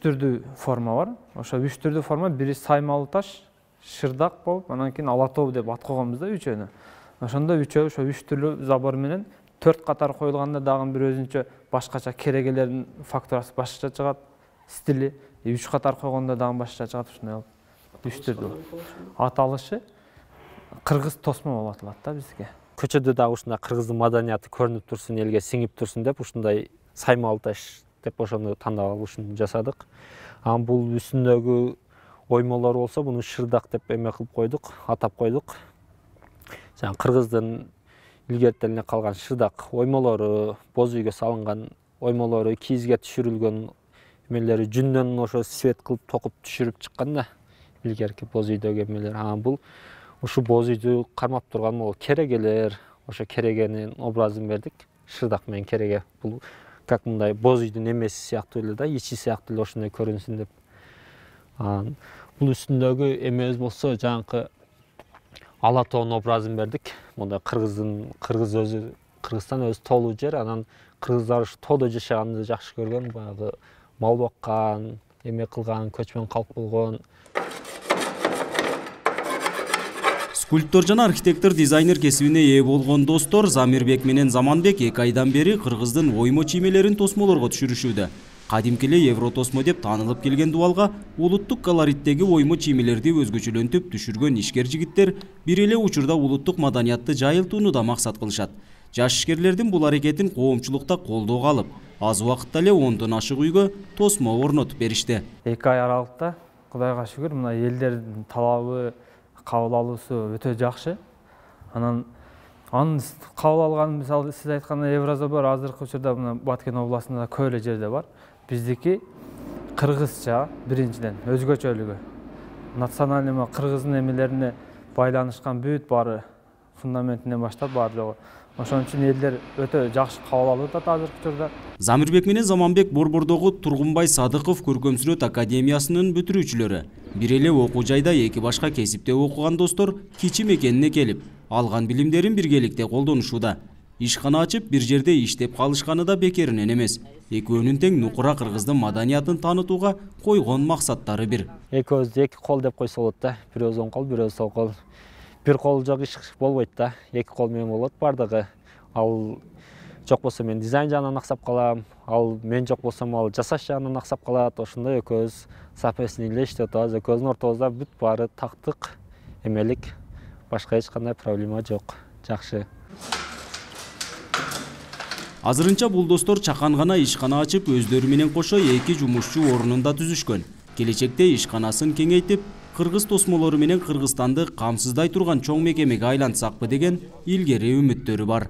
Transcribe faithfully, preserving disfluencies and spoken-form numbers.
түрдүү форма бар. Ошо үч түрдүү форма бири Саймалы таш, Шырдак болуп, анан кийин Ала тоо деп ат койгонбуз да үчөөнү. Ошондо үчөө ошо үч түрлүү забор менен төрт катар коюлганда дагы бир өзүнчө башкача керегелердин фактурасы башкача чыгат, стили. үч катар койгондо дагы башкача чыгат, ушундай болуп үч түрдүү. Аталышы кыргыз тосмо болуп аталат да бизге. Көчөдө дагы ушундай кыргыздын маданияты көрүнүп турсун, элге сиңип турсун деп ушундай Саймалы таш деп ошону тандап алып ушуну жасадык. Анан бул үстүндөгү оймолор болсо муну Шырдак деп эме кылып койдук, атап койдук. Жана кыргыздын илгертелине калган Шырдак оймолору, боз үйгө салынган оймолору, кийизге түшүрүлгөн эмелери жүндөн ошо свет кылып токуп түшүрүп чыккан да илгерки боз үйдөгү эмелер. Анан бул ушу боз үйдү кармап турган могу керегелер, ошо керегенин образын бердик. Шырдак менен кереге бул как мындай боз үйдүн эмеси сыяктуу эле да, ичи сыяктуу эле ошондой көрүнсүн деп. Анан бул үстүндөгү эмебиз болсо жанакы Ала тоонун образын бердик. Мында кыргыздын кыргыз өзү Кыргызстан өзү тоолуу жер, анан кыргыздар ушу тоодо жашаганды жакшы көргөн, баягы мал баккан, эме кылган, көчмөн калк болгон. Скульптор жана архитектор дизайнер кесибине ээ болгон достор Замирбек менен Заманбек эки айдан бери кыргыздын оймо чиймелерин тосмолорго түшүрүшүүдө. Кадимки эле Евротосмо деп таанылып келген дубалга улуттук колориттеги оймо чиймелерди өзгөчөлөнтүп түшүргөн ишкер жигиттер бир эле учурда улуттук маданиятты жайылтууну да максат кылышат. Жаш ишкерлердин бул аракетин коомчулукта колдоого алып, аз убакытта эле ондон ашык үйгө тосмо орнотуп беришти. эки ай аралыкта Кудайга шүгүр мына элдердин талабы, кабыл алуусу өтө жакшы. Анан аны кабыл алган, мисалы сиз айткандай Еврозабор азыркы учурда мына Баткен областында көп эле жерде бар. Биздики кыргызча биринчиден өзгөчөлүгү. Национальный кыргыздын эмелерине байланышкан бүт баары фундаментинен баштап баары жогу. Ошон үчүн элдер өтө жакшы кабыл алып атат азыркы учурда. Замирбек менен Заманбек Борбордогу Тургунбай Садыков көркөмсүрөт академиясынын бүтүрүүчүлөрү. Бир эле окуу жайда эки башка кесипте окуган достор кичи мекенине келип, алган билимдерин биргеликте колдонушууда. Ишкана ачып бир жерде иштеп калышканы да бекеринен эмес. Экөөнүн тең нукура кыргыздын маданиятын таанытууга койгон максаттары бир. Экөөбүздү эки кол деп койсо болот да. Бирөөбүз оң кол, бирөөбүз сол кол. Бир кол жок иш болбойт да. Эки кол менен болот бардыгы. Ал жок болсо мен дизайн жагынан аксап калам, ал мен жок болсом ал жасаш жагынан аксап калат. Ошондой экөөбүз соответственно эле иштеп атабыз. Экөөбүздүн ортобузда бүт баары тактык, эмелик, башка эч кандай проблема жок. Жакшы. Азырынча бул достор чакан гана ишкана ачып, өздөрү менен кошо эки жумушчу орнун да түзүшкөн. Келечекте ишканасын кеңейтип, кыргыз тосмолору менен Кыргызстанды камсыздай турган чоң мекемеге айлантсакпы деген илгери үмүттөрү бар.